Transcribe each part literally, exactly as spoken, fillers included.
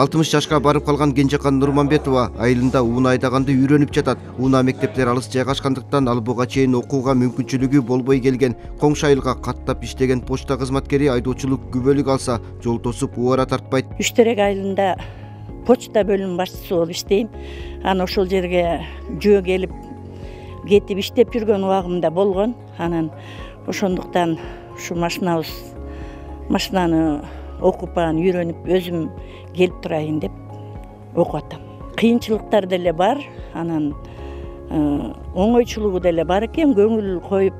алтымыш жашка барып калган Кенжекан Нурманбетова айылында уна айдаганды үйрөнүп жатат. Уна мектептер алыс жайгашкандыктан ал буга чейин окууга мүмкүнчүлүгү болбой келген. Коңшу айылга каттап иштеген почта кызматкери айдоочулук күбөлүк алса, жол тосуп убара тартпайт. Үштерек айылында почта бөлүм башчысы болуп иштейм. Анан ошол жерге жөө келип кетип иштеп жүргөн убагымда болгон. Анан ошондуктан ушу машинабыз машинаны окуп анан үйрөнүп өзүм келип турайын деп окуп атам. Кыйынчылыктар деле бар, анан оңойчулугу деле бар экен. Көңүл коюп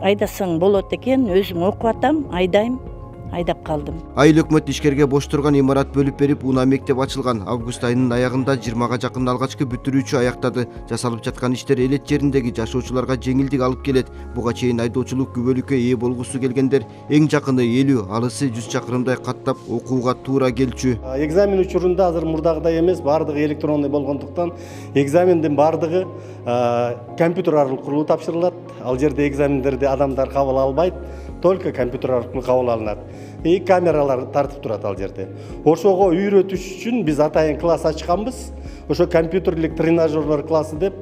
айдасаң болот экен. Өзүм окуп атам, айдайм. Айдап калдым. Айыл өкмөт ишкерге бош турган имарат бөлүп берип, уна мектеп ачылган. Август айынын аягында жыйырмага жакын алгачкы бүтүрүүчү аяктады. Жасалып жаткан иштер элет жериндеги жашоочуларга жеңилдик алып келет. Буга чейин айдоочулук күбөлүккө ээ болгусу келгендер эң жакыны элүү, алысы жүз чакырымдай каттап окууга туура келчү. Экзамен учурунда азыр мурдагыдай эмес, баардыгы электронный болгондуктан экзамендин баардыгы компьютер аркылуу тапшырылат. Ал жерде экзамендерди адамдар кабыл албайт, только компьютер аркылуу кабыл алынат. И камералар тартып турат ал жерде. Ошого үйрөтүш үчүн биз атайын класс ачканбыз. Ошо компьютерлик тренажерлер классы деп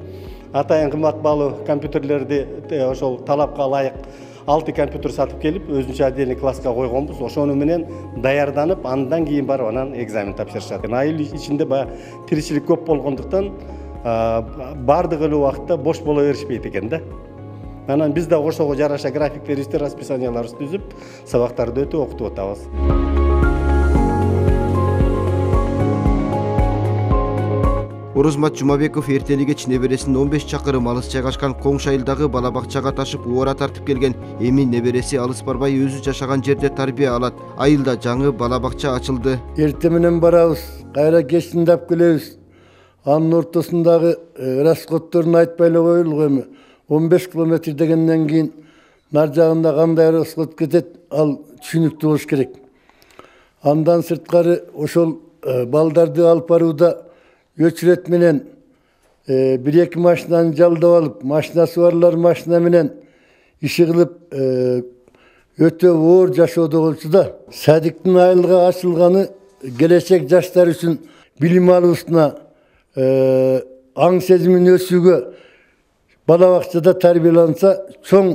атайын кымбат баалуу компьютерлерди ошол талапка ылайык алты компьютер сатып келип, өзүнчө отдельный класска койгонбуз. Ошону менен даярданып, андан кийин барып анан экзамен тапшырышат. Айыл ичинде баягы тиричилик көп болгондуктан баардык эле убакытта бош боло беришпейт экен да. Анан биз да ошого жараша графиктерибизди, расписанияларыбызды түзүп, сабактарды өтүп окутуп атабыз. Орозмат Жумабеков эртели кеч небересин он беш чакырым алыс жайгашкан Коңшу айылдагы бала бакчага ташып убара тартып келген. Эми небереси алыс барбай өзү жашаган жерде тарбия алат. Айылда жаңы бала бакча ачылды. Эрте менен барабыз, кайра кечинде алып келебиз. Анын ортосундагы расходторун айтпай эле коелук эми. он беш километр дегенден кийин нар жагында кандай расход кетет, ал түшүнүктүү болуш керек. Андан сырткары ошол балдарды алып барууда өчүрөт менен бир эки машинаны жалдап алып, машинасы барлар машина менен иши кылып өтө оор жашоодо болчу да. Садиктин айылга ачылганы келечек жаштар үчүн билим алуусуна, аң сезимин өсүүгө, бала бакчада тарбияланса чоң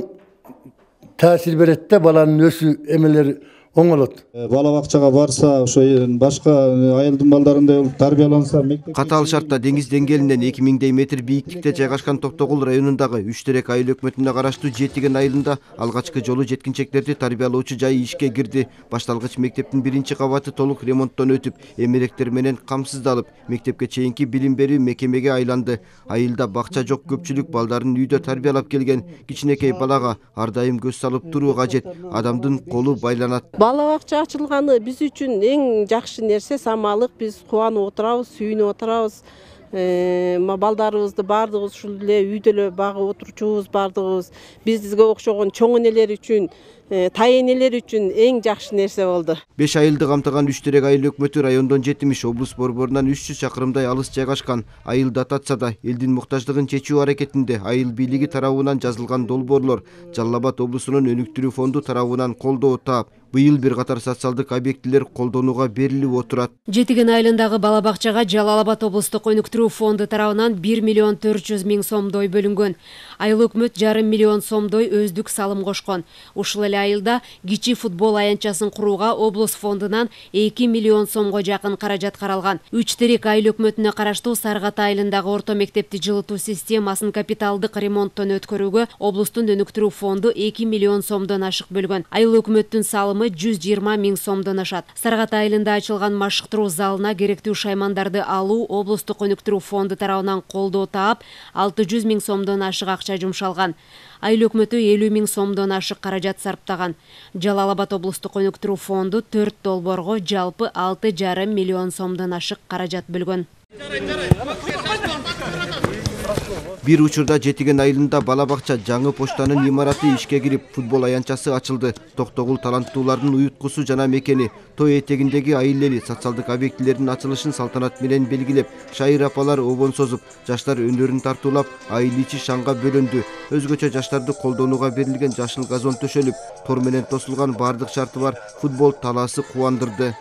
таасир берет да, баланын өсүү эмелери оңолот. Бала бакчага барса, ошо башка айылдын балдарындай болуп тарбияланса, мектеп катаал шартта деңиз деңгээлинен эки миңдей метр бийиктикте жайгашкан Токтогул районундагы Үштерек айыл өкмөтүнө караштуу Жетиген айылында алгачкы жолу жеткинчектерди тарбиялоочу жай ишке кирди. Башталгыч мектептин биринчи кабаты толук ремонттон өтүп, эмеректер менен камсыздалып, мектепке чейинки билим берүү мекемеге айланды. Айылда бакча жок, көпчүлүк балдарын үйдө тарбиялап келген. Кичинекей балага ар дайым көз салып туруу кажет. Адамдын колу байланат. Бала бакча ачылганы биз үчүн эң жакшы нерсе, самалык. Биз кубанып отурабыз, сүйүнүп отурабыз. Балдарыбызды баардыгыбыз ушул эле үйдө эле багып отурчубуз, баардыгыбыз. Бизге окшогон чоң энелер үчүн, тай энелер үчүн эң жакшы нерсе болду. беш айылды камтыган Үштерек айыл өкмөтү райондон жетимиш, облус борборунан үч жүз чакырымдай алыс жайгашкан. Айыл дотация да элдин муктаждыгын чечүү аракетинде айыл бийлиги тарабынан жазылган долбоорлор Жалал Абад облусунун өнүктүрүү фонду тарабынан колдоо таап, быйыл бир катар социалдык объектилер колдонууга берилип отурат. Жетиген айылындагы бала бакчага Жалал Абад облустук өнүктүрүү фонду тарабынан бир миллион төрт жүз миң сомдой бөлүнгөн. Айыл өкмөт жарым миллион сомдой өздүк салым кошкон. Ушул эле айылда кичи футбол аянтчасын курууга облус фондунан эки миллион сомго жакын каражат каралган. Üçтерек айыл өкмөтүнө караштуу Саргата айылындагы орто мектепти жылытуу системасын капиталдык ремонттон өткөрүүгө облустун өнүктүрүү фонду эки миллион сомдон ашык бөлгөн. Айыл өкмөттүн салымы жүз жыйырма миң сомдон ашат. Саргата айылында ачылган машыктыруу залына керектүү шаймандарды алуу облустук өнүктүрүү фонду тарабынан колдоо таап, алты жүз миң сомдон ашык акча жумшалган. Айыл өкмөтү элүү миң сомдон ашык каражат сарптаган. Жалал Абад облустук өнүктүрүү фонду төрт долбоорго жалпы алты жарым миллион сомдон ашык каражат бөлгөн. Бир учурда Жетиген айылында бала бакча жаңы почтанын имараты ишке кирип, футбол аянтчасы ачылды. Токтогул таланттуулардын уюткусу жана мекени. Той этегиндеги айыл эли социалдык объектилердин ачылышын салтанат менен белгилеп, шайыр апалар обон созуп, жаштар өндөрүн тартуулап, айыл ичи шаңга бөлөндү. Өзгөчө жаштарды колдонууга берилген жашыл газон төшөлүп, тор менен тосулган бардык шарты бар футбол талаасы кубандырды.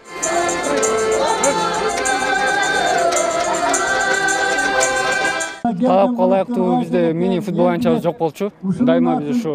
талапка ылайыктуу бизде мини футбол аянтчабыз жок болчу. Дайыма биз ушу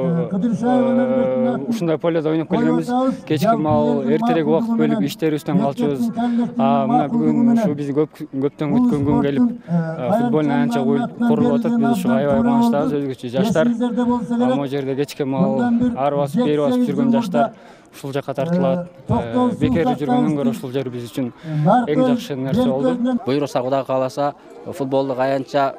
ушундай поледе ойноп келгенбиз. Кечки маал эртерээк убакыт бөлүп иштерибизден калчубуз. Мына бүгүн ушу биз көптөн күткөн күн келип футбольный аянтча курулуп атат. Биз ушу аябай кубанычтабыз, өзгөчө жаштар. Могу жерде кечки маал ары басып, бери басып жүргөн жаштар ушул жака тартылат. Бекерде жүргөндөн көрө ушул жер биз үчүн эң жакшы нерсе болду. Буйруса Кудай кааласа, футболдук аянтча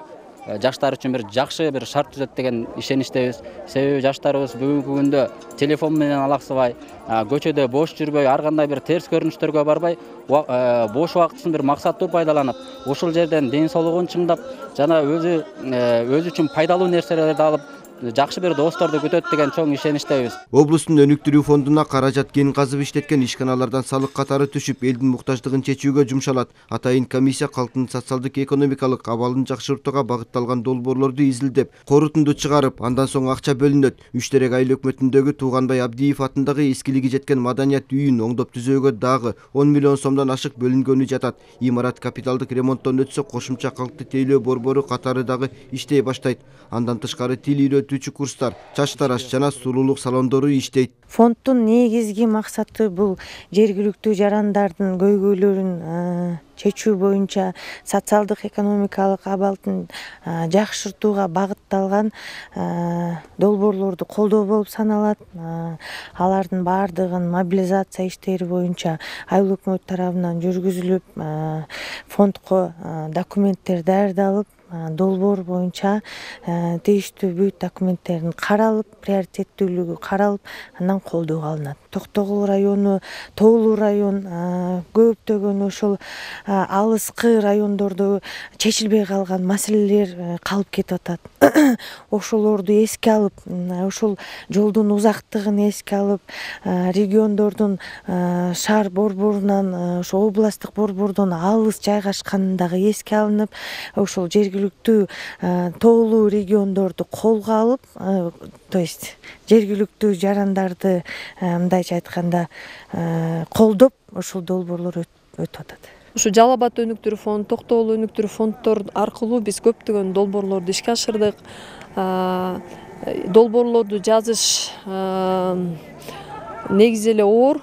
жаштар үчүн бир жакшы бир шарт түзөт деген ишеничтебиз. Себеби жаштарыбыз бүгүнкү күндө телефон менен алаксыбай, көчөдө бош жүрбөй, ар кандай бир терс көрүнүштөргө барбай, бош убактысын бир максаттуу пайдаланып, ушул жерден ден соолугун чыңдап, жана өзү өзү үчүн пайдалуу нерселерди алып, жакшы бир досторду күтөт деген чоң ишеничтебиз. Облустун өнүктүрүү фондуна каражат кен казып иштеткен ишканалардан салык катары түшүп, элдин муктаждыгын чечүүгө жумшалат. Атайын комиссия калктын социалдык экономикалык абалын жакшыртууга багытталган долбоорлорду изилдеп, корутунду чыгарып, андан соң акча бөлүнөт. Үчтерек айыл өкмөтүндөгү Тууганбай Абдиев атындагы эскилиги жеткен маданият үйүн оңдоп түзөөгө дагы он миллион сомдон ашык бөлүнгөнү жатат. Имарат капиталдык ремонттон өтсө, кошумча калкты тейлөө борбору катары дагы иштей баштайт. Андан тышкары тил үйрөтүүчү курстар, чач тараш жана сулуулук салондору иштейт. Фонддун негизги максаты бул жергиликтүү жарандардын көйгөйлөрүн чечүү боюнча социалдык экономикалык абалдын жакшыртууга багытталган долбоорлорду колдоо болуп саналат. Алардын баардыгын мобилизация иштери боюнча айыл өкмөт тарабынан жүргүзүлүп, фондко документтер даярдалып, долбоор боюнча тийиштүү бүт документтердин каралып, приоритеттүүлүгү каралып, андан колдоого алынат. Токтогул району, Тоолуу район, көптөгөн ошол алыскы райондордо чечилбей калган маселелер калып кетип атат. Ошолорду эске алып, ошол жолдун узактыгын эске алып, региондордун шаар борборунан, ошо областтык борбордон алыс жайгашканы дагы эске алынып, ошол жергиликтүү тоолуу региондорду колго алып, то есть жергиликтүү жарандарды мындайча айтканда колдоп, ошол долбоорлор өтүп атат. Ушу Жалал Абад өнүктүрүү фонду, Токтогул өнүктүрүү фонддор аркылуу биз көптөгөн долбоорлорду ишке ашырдык. Долбоорлорду жазыш негизи эле оор,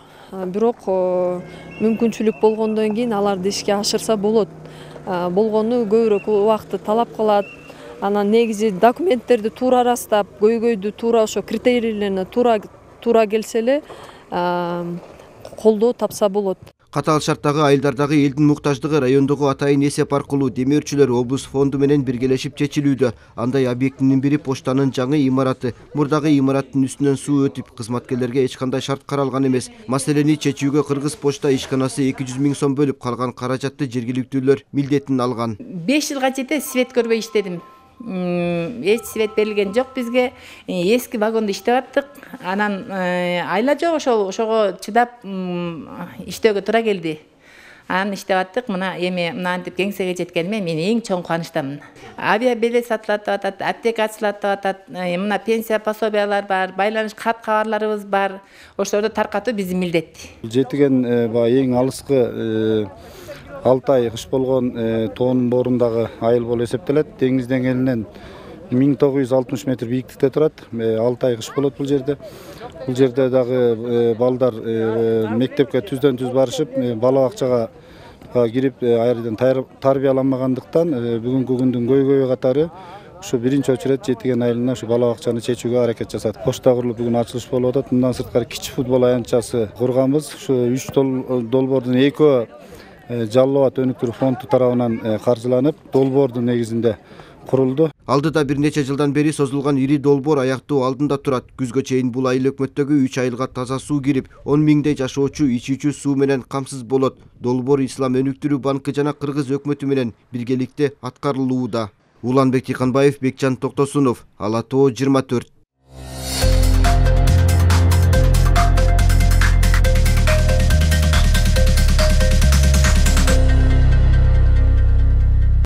бирок мүмкүнчүлүк болгондон кийин аларды ишке ашырса болот. Болгону көбүрөөк убакытты талап кылат. Анан негизи документтерди туура ырастап, көйгөйдү туура ошо критерийлерине туура туура келсе эле колдоо тапса болот. Катаал шарттагы айылдардагы элдин муктаждыгы райондогу атайын эсеп аркылуу демөөрчүлөр облус фонду менен биргелешип чечилүүдө. Андай объектинин бири поштанын жаңы имараты. Мурдагы имараттын үстүнөн суу өтүп, кызматкерлерге эч кандай шарт каралган эмес. Маселени чечүүгө Кыргыз почта ишканасы эки жүз миң сом бөлүп, калган каражатты жергиликтүүлөр милдетин алган. беш жылга чейин свет көрбөй иштедим. Эч свет берилген жок бизге. Эски вагондо иштеп аттык. Анан айла жок, ошол ошого чыдап иштөөгө туура келди. Анан иштеп аттык. Мына эми мынантип кеңсеге жеткениме мен эң чоң кубанычтамын. Авиабилет сатылат деп атат, аптека ачылат деп атат. Мына пенсия пособиялар бар, байланыш кат кабарларыбыз бар. Ошолорду таркатуу биздин милдет. Жетиген эң алыскы алты ай кыш болгон тоонун боорундагы айыл болуп эсептелет. Деңиз деңгээлинен миң тогуз жүз алтымыш метр бийиктикте турат. алты ай кыш болот бул жерде. Бул жерде дагы балдар мектепке түздөн түз барышып, бала бакчага кирип айрыдан тарбияланмагандыктан бүгүнкү күндүн көйгөйү катары ушу биринчи очередь Жетиген айылына ушу бала бакчаны чечүүгө аракет жасадык. Почта курулуп бүгүн ачылыш болуп атат. Мындан сырткары кичи футбол аянтчасы курганбыз. Ушу үч долбоордун экөө Жалал Абад өнүктүрүү фонду тарабынан каржыланып, долбоордун негизинде курулду. Алдыда бир нече жылдан бери созулган ири долбоор аяктоо алдында турат. Күзгө чейин бул айыл өкмөттөгү үч айылга таза суу кирип, он миңдей жашоочу ичүүчү суу менен камсыз болот. Долбоор Ислам өнүктүрүү банкы жана Кыргыз өкмөтү менен биргеликте аткарылууда. Уланбек Тыйканбаев, Бекжан Токтосунов, Ала Тоо жыйырма төрт.